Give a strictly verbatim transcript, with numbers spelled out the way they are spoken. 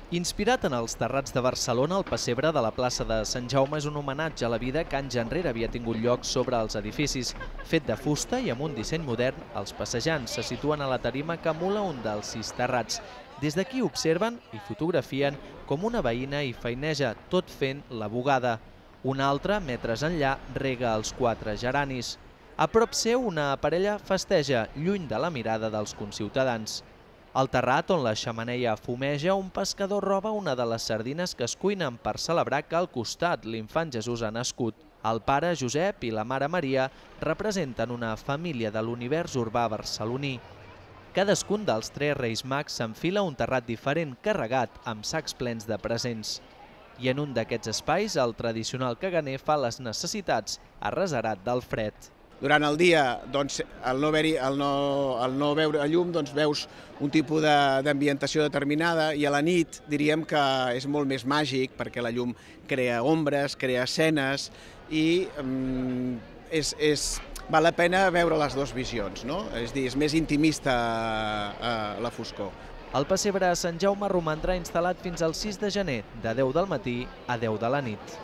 Inspirat en els terrats de Barcelona, el pessebre de la plaça de Sant Jaume és un homenatge a la vida que anys enrere havia tingut lloc sobre els edificis. Fet de fusta i amb un disseny modern, els passejants se situen a la tarima que emula un dels sis terrats. Des d'aquí observen i fotografien com una veïna hi feineja, tot fent la bugada. Una altra, metres enllà, rega els quatre geranis. A prop seu, una parella festeja, lluny de la mirada dels conciutadans. Al terrat, on la xemeneia fumeja, un pescador roba una de les sardines que es cuinen per celebrar que al costat l'infant Jesús ha nascut. El pare Josep i la mare Maria representen una família de l'univers urbà barceloní. Cadascun dels tres Reis Mags s'enfila un terrat diferent carregat amb sacs plens de presents. I en un d'aquests espais, el tradicional caganer fa les necessitats arreserat del fred. Durant el dia, doncs, al no haver-hi, al no, al no veure llum, doncs, veus un tipus d'ambientació determinada i a la nit diríem que és molt més màgic perquè la llum crea ombres, crea escenes i um, és, és, val la pena veure les dues visions, no? És dir, és més intimista uh, la foscor. El pessebre a Sant Jaume romandrà instal·lat fins al sis de gener, de deu del matí a deu de la nit.